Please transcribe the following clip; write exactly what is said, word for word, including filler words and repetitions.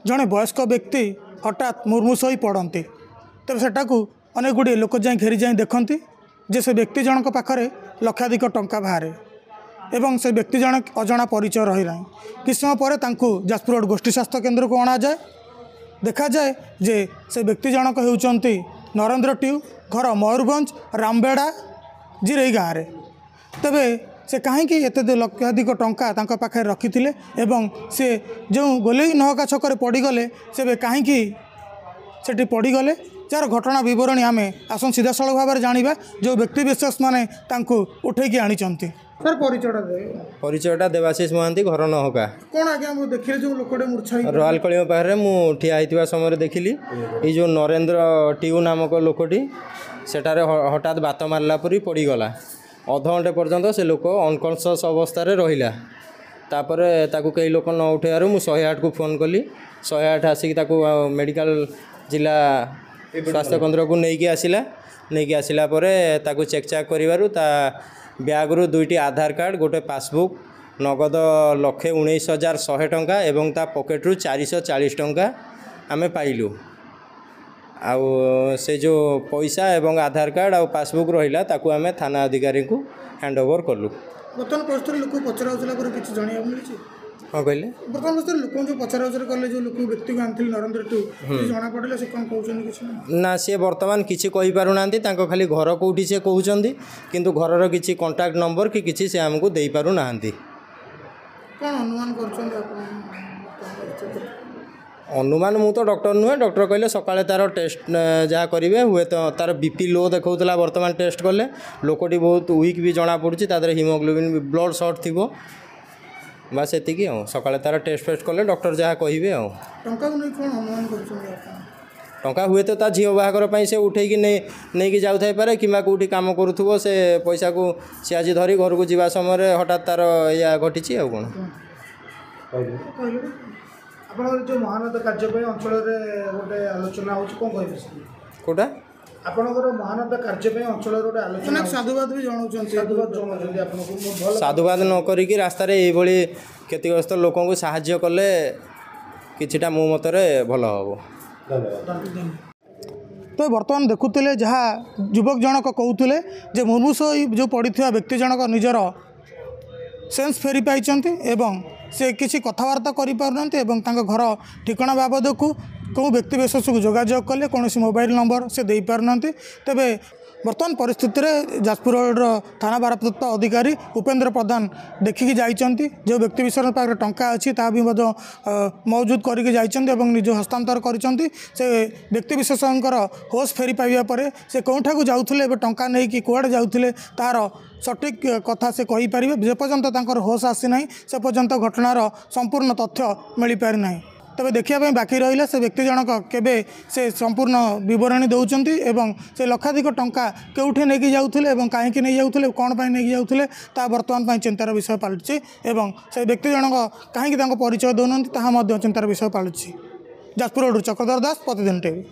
ଜଣେ ବୟସ୍କ ବ୍ୟକ୍ତି ହଠାତ୍ ମୁର୍ମୂଷ ହୋଇ ପଡ଼ନ୍ତି। ତେବେ ସେଟାକୁ ଅନେକ ଗୁଡ଼ିଏ ଲୋକ ଯାଇ ଘେରି ଯାଇ ଦେଖନ୍ତି ଯେ ସେ ବ୍ୟକ୍ତି ଜଣଙ୍କ ପାଖରେ ଲକ୍ଷାଧିକ ଟଙ୍କା ବାହାରେ ଏବଂ ସେ ବ୍ୟକ୍ତି ଜଣେ ଅଜଣା ପରିଚୟ ରହିନାହିଁ। କିଛି ସମୟ ପରେ ତାଙ୍କୁ ଯାଜପୁର ରୋଡ଼ ଗୋଷ୍ଠୀ ସ୍ୱାସ୍ଥ୍ୟ କେନ୍ଦ୍ରକୁ ଅଣାଯାଏ। ଦେଖାଯାଏ ଯେ ସେ ବ୍ୟକ୍ତି ଜଣକ ହେଉଛନ୍ତି ନରେନ୍ଦ୍ର ଟିଉ, ଘର ମୟୂରଭଞ୍ଜ ରାମବେଡ଼ା ଜିରେଇ ଗାଁରେ। ତେବେ ସେ କାହିଁକି ଏତେ ଲକ୍ଷାଧିକ ଟଙ୍କା ତାଙ୍କ ପାଖରେ ରଖିଥିଲେ ଏବଂ ସେ ଯେଉଁ ଗୋଲେଇ ନହକା ଛକରେ ପଡ଼ିଗଲେ, ସେବେ କାହିଁକି ସେଠି ପଡ଼ିଗଲେ, ଯାହାର ଘଟଣା ବିବରଣୀ ଆମେ ଆସନ୍ତୁ ସିଧାସଳଖ ଭାବରେ ଜାଣିବା ଯେଉଁ ବ୍ୟକ୍ତି ବିଶେଷ ମାନେ ତାଙ୍କୁ ଉଠେଇକି ଆଣିଛନ୍ତି। ସାର୍, ପରିଚୟଟା ଦେବେ? ପରିଚୟଟା ଦେବାଶିଷ ମହାନ୍ତି, ଘର ନହକା। କ'ଣ ଆଜ୍ଞା, ମୁଁ ଦେଖିଲି ଯେଉଁ ଲୋକଟେ ମୂର୍ଚ୍ଛା ହେଇ ରୟାଲ କଳିଙ୍ଗ ପାଖରେ ମୁଁ ଠିଆ ହେଇଥିବା ସମୟରେ ଦେଖିଲି ଏଇ ଯେଉଁ ନରେନ୍ଦ୍ର ଟିଉ ନାମକ ଲୋକଟି ସେଠାରେ ହଠାତ୍ ବାତ ମାରିଲା ପରି ପଡ଼ିଗଲା। ଅଧଘଣ୍ଟେ ପର୍ଯ୍ୟନ୍ତ ସେ ଲୋକ ଅନକନସିୟସ୍ ଅବସ୍ଥାରେ ରହିଲା। ତାପରେ ତାକୁ କେହି ଲୋକ ନ ଉଠାଇବାରୁ ମୁଁ ଶହେ ଆଠକୁ ଫୋନ୍ କଲି। ଶହେ ଆଠ ଆସିକି ତାକୁ ମେଡ଼ିକାଲ ଜିଲ୍ଲା ସ୍ୱାସ୍ଥ୍ୟ କେନ୍ଦ୍ରକୁ ନେଇକି ଆସିଲା। ନେଇକି ଆସିଲା ପରେ ତାକୁ ଚେକ୍ ଚାକ୍ କରିବାରୁ ତା ବ୍ୟାଗ୍ରୁ ଦୁଇଟି ଆଧାର କାର୍ଡ଼, ଗୋଟେ ପାସବୁକ୍, ନଗଦ ଲକ୍ଷେ ଉଣେଇଶ ହଜାର ଶହେ ଟଙ୍କା ଏବଂ ତା ପକେଟରୁ ଚାରିଶହ ଚାଳିଶ ଟଙ୍କା ଆମେ ପାଇଲୁ। ଆଉ ସେ ଯେଉଁ ପଇସା ଏବଂ ଆଧାର କାର୍ଡ଼ ଆଉ ପାସବୁକ୍ ରହିଲା, ତାକୁ ଆମେ ଥାନା ଅଧିକାରୀଙ୍କୁ ହ୍ୟାଣ୍ଡ ଓଭର କଲୁ। ବର୍ତ୍ତମାନ ପରିସ୍ଥିତିରେ ଲୋକଙ୍କୁ ପଚରା ଉଚରା ପରେ କିଛି ଜାଣିବାକୁ ମିଳିଛି? କ'ଣ କହିଲେ? ବର୍ତ୍ତମାନ ପରିସ୍ଥିତିରେ ଲୋକଙ୍କୁ ଯେଉଁ ପଚରା ଉଚରା କଲେ, ଯେଉଁ ଲୋକ ବ୍ୟକ୍ତିକୁ ଆଣିଥିଲେ ନରେନ୍ଦ୍ର ଟୁ, ଜଣାପଡ଼ିଲେ ସେ କ'ଣ କହୁଛନ୍ତି କିଛି? ନା, ସିଏ ବର୍ତ୍ତମାନ କିଛି କହିପାରୁନାହାନ୍ତି। ତାଙ୍କ ଖାଲି ଘର କେଉଁଠି ସେ କହୁଛନ୍ତି, କିନ୍ତୁ ଘରର କିଛି କଣ୍ଟାକ୍ଟ ନମ୍ବର କି କିଛି ସେ ଆମକୁ ଦେଇପାରୁନାହାନ୍ତି। କ'ଣ ଅନୁମାନ କରୁଛନ୍ତି ଆପଣ? ଅନୁମାନ ମୁଁ ତ ଡକ୍ଟର ନୁହେଁ। ଡକ୍ଟର କହିଲେ ସକାଳେ ତା'ର ଟେଷ୍ଟ ଯାହା କରିବେ। ହୁଏତ ତା'ର ବି ପି ଲୋ ଦେଖାଉଥିଲା, ବର୍ତ୍ତମାନ ଟେଷ୍ଟ କଲେ ଲୋକଟି ବହୁତ ୱିକ୍ ବି ଜଣାପଡ଼ୁଛି। ତା ଦେହରେ ହିମୋଗ୍ଲୋବିନ୍ ବ୍ଲଡ଼ ସର୍ଟ ଥିବ, ବାସ୍ ସେତିକି। ଆଉ ସକାଳେ ତା'ର ଟେଷ୍ଟ ଫେଷ୍ଟ କଲେ ଡକ୍ଟର ଯାହା କହିବେ। ଆଉ ଟଙ୍କାକୁ ନେଇ କ'ଣ ଅନୁମାନ କରୁଛନ୍ତି ଆପଣ? ଟଙ୍କା ହୁଏତ ତା ଝିଅ ବାହାଘର ପାଇଁ ସେ ଉଠେଇକି ନେଇ ନେଇକି ଯାଉଥାଇପାରେ, କିମ୍ବା କେଉଁଠି କାମ କରୁଥିବ, ସେ ପଇସାକୁ ସେ ଆଜି ଧରି ଘରକୁ ଯିବା ସମୟରେ ହଠାତ୍ ତା'ର ଏଇଆ ଘଟିଛି। ଆଉ କ'ଣ? ଆପଣଙ୍କର ଯେଉଁ ମହାନତା କାର୍ଯ୍ୟ ପାଇଁ ଅଞ୍ଚଳରେ ଗୋଟେ ଆଲୋଚନା ହେଉଛି, କ'ଣ କହିବେ? କେଉଁଟା? ଆପଣଙ୍କର ମହାନତା କାର୍ଯ୍ୟ ପାଇଁ ଅଞ୍ଚଳରେ ଗୋଟେ ଆଲୋଚନା, ସାଧୁବାଦ ବି ଜଣାଉଛନ୍ତି, ସାଧୁବାଦ ଜଣାଉଛନ୍ତି ଆପଣଙ୍କୁ। ସାଧୁବାଦ ନ କରିକି ରାସ୍ତାରେ ଏଇଭଳି କ୍ଷତିଗ୍ରସ୍ତ ଲୋକଙ୍କୁ ସାହାଯ୍ୟ କଲେ କିଛିଟା ମୋ ମତରେ ଭଲ ହେବ। ତ ବର୍ତ୍ତମାନ ଦେଖୁଥିଲେ ଯାହା ଯୁବକ ଜଣକ କହୁଥିଲେ ଯେ ମୁର୍ମୂଷ ଯେଉଁ ପଡ଼ିଥିବା ବ୍ୟକ୍ତି ଜଣକ ନିଜର ସେନ୍ସ ଫେରି ପାଇଛନ୍ତି ଏବଂ ସେ କିଛି କଥାବାର୍ତ୍ତା କରିପାରୁନାହାନ୍ତି ଏବଂ ତାଙ୍କ ଘର ଠିକଣା ବାବଦକୁ କେଉଁ ବ୍ୟକ୍ତି ବିଶେଷକୁ ଯୋଗାଯୋଗ କଲେ କୌଣସି ମୋବାଇଲ ନମ୍ବର ସେ ଦେଇପାରୁନାହାନ୍ତି। ତେବେ ବର୍ତ୍ତମାନ ପରିସ୍ଥିତିରେ ଯାଜପୁର ରୋଡ଼ର ଥାନା ଭାରପ୍ରାପ୍ତ ଅଧିକାରୀ ଉପେନ୍ଦ୍ର ପ୍ରଧାନ ଦେଖିକି ଯାଇଛନ୍ତି। ଯେଉଁ ବ୍ୟକ୍ତି ବିଶେଷଙ୍କ ପାଖରେ ଟଙ୍କା ଅଛି, ତାହା ବି ମଧ୍ୟ ମହଜୁଦ କରିକି ଯାଇଛନ୍ତି ଏବଂ ନିଜ ହସ୍ତାନ୍ତର କରିଛନ୍ତି। ସେ ବ୍ୟକ୍ତି ବିଶେଷଙ୍କର ହୋସ୍ ଫେରି ପାଇବା ପରେ ସେ କେଉଁଠାକୁ ଯାଉଥିଲେ, ଏବେ ଟଙ୍କା ନେଇକି କୁଆଡ଼େ ଯାଉଥିଲେ, ତାହାର ସଠିକ୍ କଥା ସେ କହିପାରିବେ। ଯେପର୍ଯ୍ୟନ୍ତ ତାଙ୍କର ହୋସ୍ ଆସିନାହିଁ, ସେ ପର୍ଯ୍ୟନ୍ତ ଘଟଣାର ସମ୍ପୂର୍ଣ୍ଣ ତଥ୍ୟ ମିଳିପାରିନାହିଁ। ତେବେ ଦେଖିବା ପାଇଁ ବାକି ରହିଲା ସେ ବ୍ୟକ୍ତି ଜଣକ କେବେ ସେ ସମ୍ପୂର୍ଣ୍ଣ ବିବରଣୀ ଦେଉଛନ୍ତି ଏବଂ ସେ ଲକ୍ଷାଧିକ ଟଙ୍କା କେଉଁଠି ନେଇକି ଯାଉଥିଲେ ଏବଂ କାହିଁକି ନେଇଯାଉଥିଲେ, କ'ଣ ପାଇଁ ନେଇକି ଯାଉଥିଲେ, ତାହା ବର୍ତ୍ତମାନ ପାଇଁ ଚିନ୍ତାର ବିଷୟ ପାଲଟିଛି ଏବଂ ସେ ବ୍ୟକ୍ତି ଜଣକ କାହିଁକି ତାଙ୍କ ପରିଚୟ ଦେଉନାହାନ୍ତି, ତାହା ମଧ୍ୟ ଚିନ୍ତାର ବିଷୟ ପାଲଟିଛି। ଯାଜପୁର ରୋଡ଼ରୁ ଚକ୍ରଧର ଦାସ, ପ୍ରତିଦିନ ଟିଭି।